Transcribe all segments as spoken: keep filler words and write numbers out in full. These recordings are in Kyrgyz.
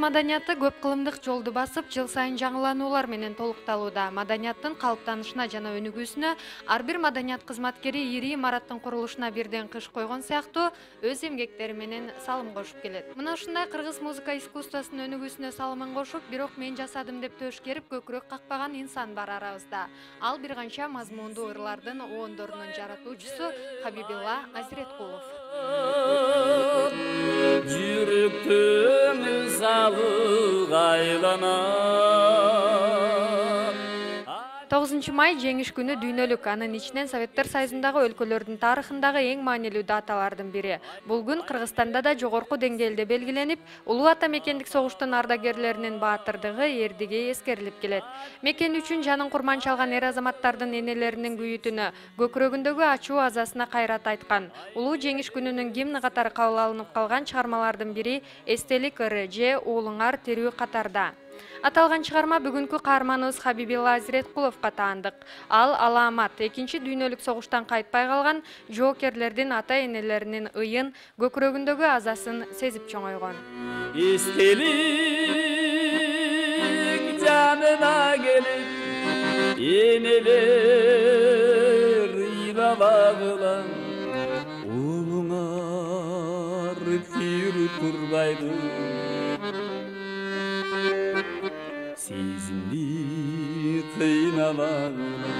маданияты көп кылымдык жолду басып, жыл сайын жаңылануулар менен толукталууда. Маданияттын калыптанышына жана өнүгүүсүнө ар бир маданият кызматкери ири имараттын курулушуна бирден кыш койгон сыяктуу өз эмгектери менен салым кошуп келет. Мына ушундай кыргыз музыка искусствосунун өнүгүүсүнө салымын кошуп, бирок мен жасадым деп төшкерип көкүрөк какпаган инсан бар арабызда. Ал бир канча мазмундуу ырлардыноондорунун жаратуучусу Хабибилла Азиреткулов. Жүрүктүн сабы тогузунчу май жеңиш күнү дүйнөлүк, анын ичинен Советтер Союзундагы өлкөлөрдүн тарыхындагы эң маанилүү даталардын бири. Бул күн Кыргызстанда да жогорку деңгээлде белгиленип, улуу ата мекендик согуштун ардагерлеринин баатырдыгы, эрдиги эскерилип келет. Мекен үчүн жанын курман чалган эр азаматтардын энелеринин күйүтүнө, көкүрөгүндөгү ачуу азасына кайрат айткан. Улуу жеңиш күнүнүн гимни катары кабыл алынып калган чыгармалардын бири «Эстелик ыры» же «Уулуңар тирүү катарда». Аталган чыгарма бүгүнкү каарманыбыз Хабибилла Азиреткуловго таандык. Ал Аламат экинчи дүйнөлүк согуштан кайтпай калган жоокерлердин ата-энелеринин ыйын, көкүрөгүндөгү азасын сезип чоңойгон. Эстелик жанына келип, энелер ыйлабагыла, уулуңар тирүү турбайды. Сезимди кыйнабагыла.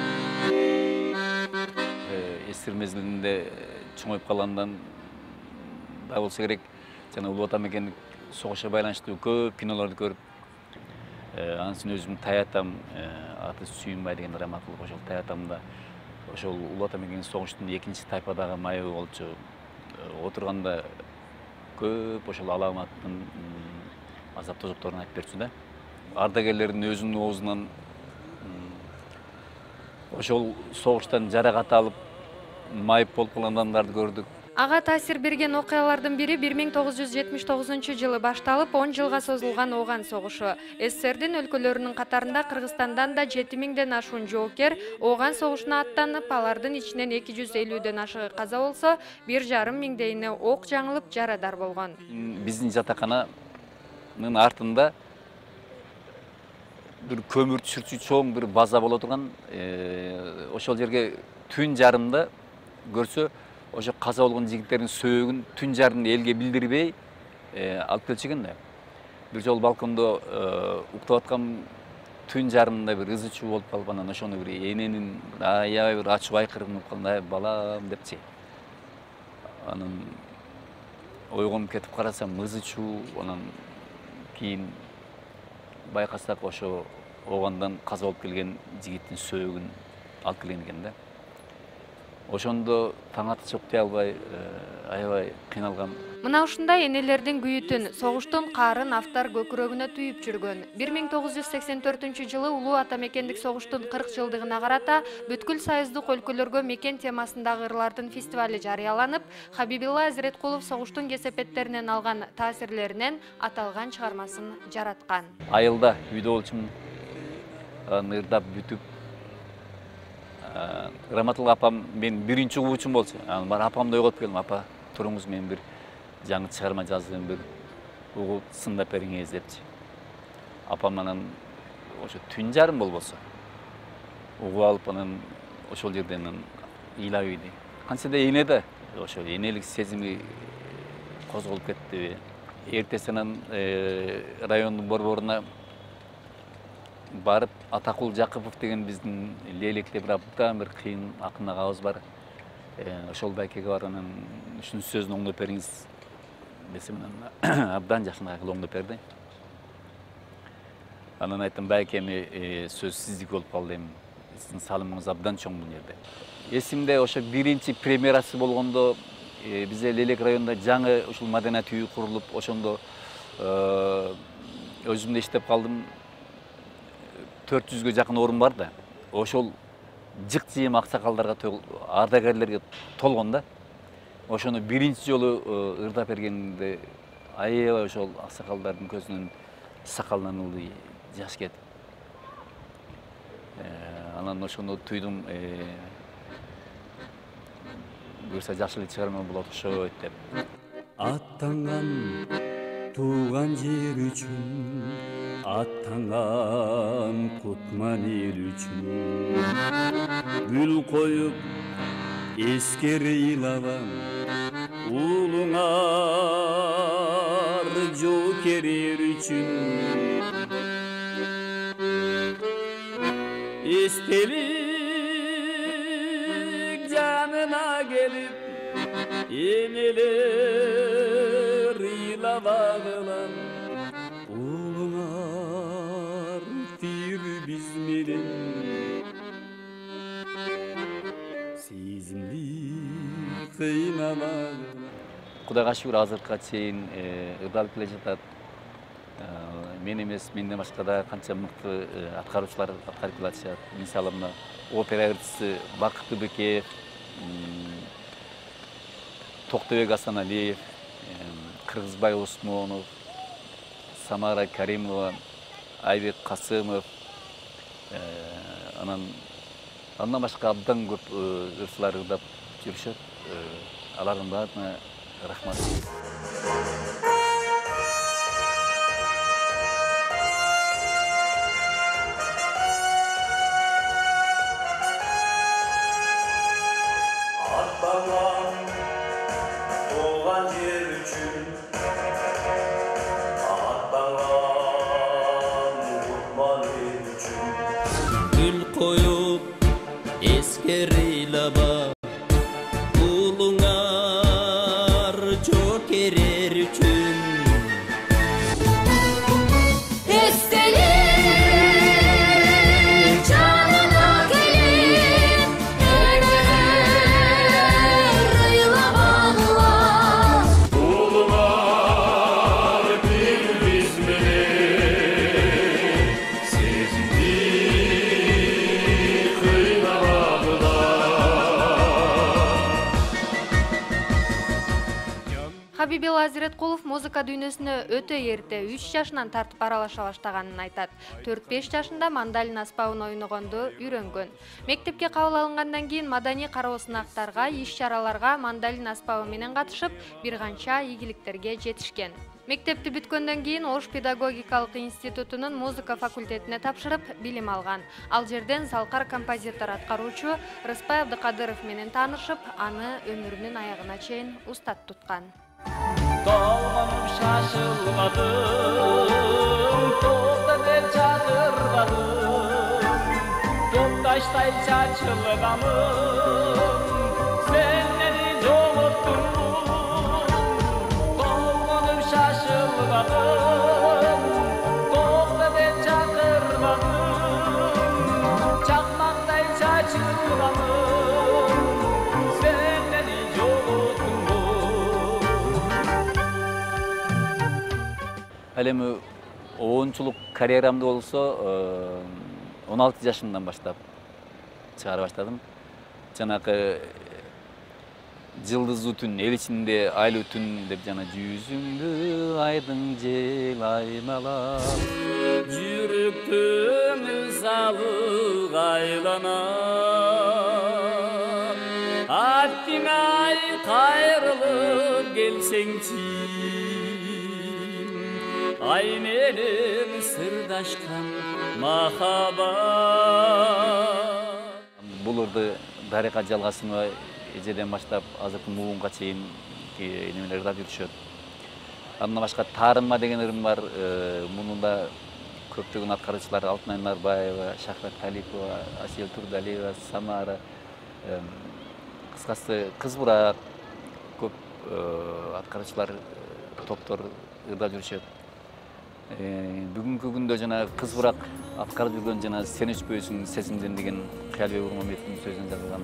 Эстер мезгилинде чоңоюп калгандан да болсо керек, жана улуу ата мекендик согушка байланыштуу көп кинолорду көрүп, анын үстүнө өзүм таятам, аты Сүйүнбай деген драматург, ошол таятамда ошол улуу ата мекендик согуштун экинчи тайпадагы майыбы болчу. Отурганда көп ошол Аламаттын азап тозокторун айтып берчү да. Ардагерлердин өзүнүн оозунан ошол согуштан жаракат алып, майып болуп калган адамдарды көрдүк. Ага таасир берген окуялардын бири бир миң тогуз жүз жетимиш тогузунчу жылы башталып, он жылга созулган Ооган согушу. СССРдин өлкөлөрүнүн катарында Кыргызстандан да жети миңден ашуун жоокер Ооган согушуна аттанып, алардын ичинен эки жүз элүүдөн ашыгы каза болсо, бир жарым миңдейини ок жаңылып жарадар болгон. Биздин жатакананын артында бир көмүр түшүрчү чоң бир база боло турган, ошол жерге түн жарымда көрсө, ошо каза болгон жигиттердин сөөгүн түн жарымда элге билдирбей алып келчү экен да. Бир жолу балкондо уктап аткан түн жарымында бир ызы чуу болуп калып, анан ошону бир эненин аябай бир ачуу айкырыгын угуп калганда, балам депчи. Анан ойгонуп кетип карасам, ызы чуу, анан кийин байкасак ошо Оогандан каза болуп келген жигиттин сөөгүн алып келген экен да. Ошондо таң аты чок дей албай, аябай кыйналгам. Мына ушундай энелердин күйүтүн, согуштун каарын автор көкүрөгүнө түйүп жүргөн. бир миң тогуз жүз сексен төртүнчү жылы улуу ата мекендик согуштун кырк жылдыгына карата бүткүл союздук өлкөлөргө мекен темасындагы ырлардын фестивали жарыяланып, Хабибилла Азиреткулов согуштун кесепеттеринен алган таасирлеринен аталган чыгармасын жараткан. Айылда үйдө болчумун, ырдап бүтүп, Раматул апам мен биринчи угуучум болчу. Анан бар апамды ойготуп келдим, апа, туруңуз, мен бир жаңы чыгарма жаздым, бир угуп сындап бериңиз депчи. Апам анан ошо түн жарым болбосо угуп алып, анан ошол жерден ыйлап ийди. Кантсе да эне да, ошо энелик сезими козголуп кетти. Эртеси анан райондун борборуна барып, Атакул Жакыпов деген биздин Лейлектеп бир абдан бир кыйын акын агабыз бар. Ошол байкеге барып, анан ушунун сөзүн оңдоп бериңиз десем, абдан жакшынакай кылып оңдоп берди. Анан айттым, байкеми, сөз сиздики болуп калды, эми сиздин салымыңыз абдан чоң бул жерде. Эсимде ошо биринчи премьерасы болгондо бизде Лейлек районунда жаңы ушул маданият үйү курулуп, ошондо өзүм да иштеп калдым. төрт жүзгө жакын орун бар да. Ошол жык жыйым аксакалдарга, ардагерлерге толгон да. Ошону биринчи жолу ырдап бергенде аябай ошол аксакалдардын көзүнөн сакалынан ылдый жаш кетип. Анан ошону туйдум, буюрса жакшы эле чыгарма болот окшойт деп. Аттанган тууган жер үчүн аттанган кутман эл үчүн гүл коюп эскере ыйлабам уулуңар жоокер эр үчүн эстелик жанына келип энелер ыйлабагылам уулуңар тир биз менен сезимди кыйнабагылам. Кудайга шүгүр азыркыга чейин ырдалып келе жатат. Мен эмес, менден башка да канча мыкты аткаруучулар аткарып келатышат. Мисалы мына опера ырчысы Бакыты Бекеев, Токтобек Асаналиев, Кыргызбай Осмонов, Самара Каримова, Айбек Касымов, анан андан башка абдан көп ырчылар ырдап жүрүшөт. Алардын баарына рахмат. Gül koyup esker ыйлаба уулуңар жоокер эр үчүн эстелик жанына келип энелер ыйлабагыла уулуңар бир биз менен сезимди Хабибил Азиреткулов музыка дүйнөсүнө өтө эрте үч жашынан тартып аралаша баштаганын айтат. төрт-беш жашында мандалин аспабын ойногонду үйрөнгөн. Мектепке кабыл алынгандан кийин маданий кароо сынактарга, иш-чараларга мандалин аспабы менен катышып, бир канча ийгиликтерге жетишкен. Мектепти бүткөндөн кийин Ош педагогикалык институтунун музыка факультетине тапшырып, билим алган. Ал жерден залкар композитор аткаруучу Рыспай Абдыкадыров менен таанышып, аны өмүрүнүн аягына чейин устат туткан. Толгонуп шашылбадым, токто деп чакырбадым, токташтай чачылганым, сен мени жоготтуң. Толгонуп шашылбадым, токто деп чакырбадым, чакмактай чачылганым, сен мени жоготтуң. Ал эми оончулук карьерамды болсо он алты жашымдан баштап чыгара баштадым. Жанагы жылдыздуу түн, эл ичинде айлуу түн деп жана жүзүңдү айдың жел аймалап. Жүрөктүн ызалы айланат, аттиңай кайрылып келсеңчи, ай менен сырдашкан махаббат. Бул ырды Дарыка Жалгасымова эжеден баштап азыркы муунга чейин немелер ырдап жүрүшөт. Андан башка Таарынма деген ырым бар. Муну да көптөгөн аткаруучулар Алтынай Нарбаева, Шахрат Талипова, Асел Турдалиева, Самара, кыскасы Кыз Бурак көп аткаруучулар топтор ырдап жүрүшөт. Бүгүнкү күндө жана Кыз Бурак аткарып жүргөн жана Сен өчпөйсүң сезимден деген Кыялбек Урмамбетовдун сөзүн жазылган.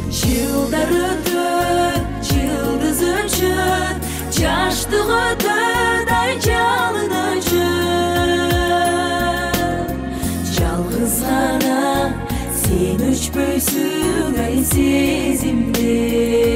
Жылдар өтөт, жылдыз өчөт, жаштык өтөт, ай жалын өчөт. Жалгыз гана сен өчпөйсүң ай сезимден.